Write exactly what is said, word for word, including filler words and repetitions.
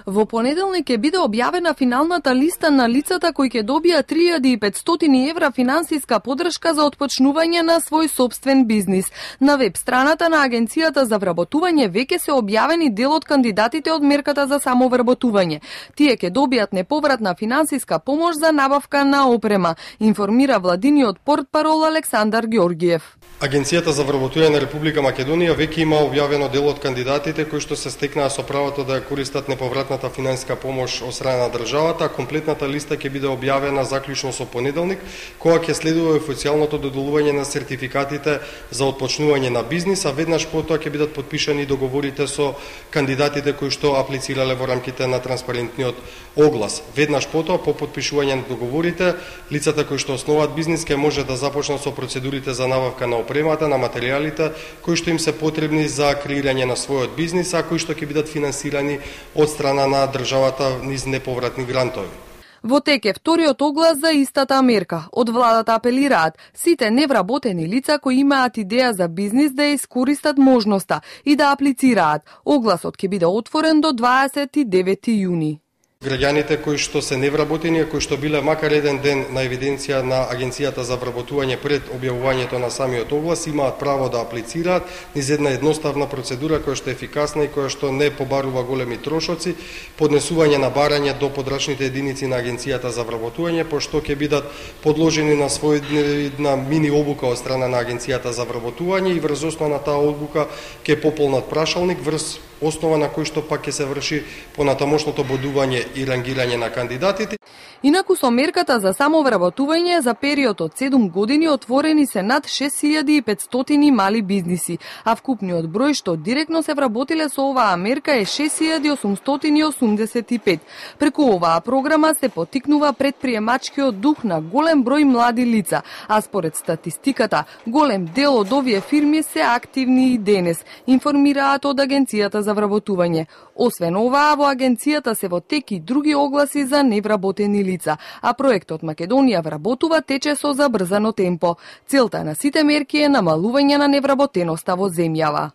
Во понеделник ќе биде објавена финалната листа на лицата кои ќе добијат три илјади и петстотини евра финансиска подршка за отпочнување на свој собствен бизнис. На веб страната на Агенцијата за вработување веќе се објавени дел од кандидатите од мерката за самовработување. Тие ќе добијат неповратна финансиска помош за набавка на опрема, информира владиниот портпарол Александар Ѓорѓиев. Агенцијата за вработување на Република Македонија веќе има објавено дел од кандидатите кои што се стекнаа со правото да ја користат неповратната финансиска помош од страна на државата, а комплетната листа ќе биде објавена заклучно со понеделник, кога ќе следува официјалното доделување на сертификатите за отпочнување на бизнис, а веднаш потоа ќе бидат потпишани договорите со кандидатите кои што аплицирале во рамките на транспарентниот оглас. Веднаш потоа, по потпишување на договорите, лицата кои што основаат бизнис ќе може да започнат со процедурите за набавка на опремата, на материјалите кои што им се потребни за креирање на својот бизнис, а кои што ќе бидат финансирани од страна на државата низ неповратни грантови. Во тек е вториот оглас за истата мерка. Од владата апелираат сите невработени лица кои имаат идеја за бизнис да ја искористат можноста и да аплицираат. Огласот ќе биде отворен до дваесет и девети јуни. Граѓаните кои што се невработени, кои што биле макар еден ден на евиденција на Агенцијата за вработување пред објавувањето на самиот оглас, имаат право да аплицираат низ една едноставна процедура која што е ефикасна и која што не побарува големи трошоци, поднесување на барање до подрачните единици на Агенцијата за вработување, пошто ќе бидат подложени на својна мини обука од страна на Агенцијата за вработување и врз основа на таа обука ќе пополнат прашалник, врз основа на кој што пак ќе се врши понатамошното бодување и рангирање на кандидатите. Инаку со мерката за самовработување за период од седум години отворени се над шест илјади и петстотини мали бизниси, а вкупниот број што директно се вработиле со оваа мерка е шест илјади осумстотини осумдесет и пет. Преку оваа програма се поттикнува предприемачкиот дух на голем број млади лица, а според статистиката, голем дел од овие фирми се активни и денес, информираат од Агенцијата за вработување. Освен ова, во агенцијата се во тек и други огласи за невработени лица, а проектот Македонија вработува тече со забрзано темпо. Целта на сите мерки е намалување на невработеноста во земјава.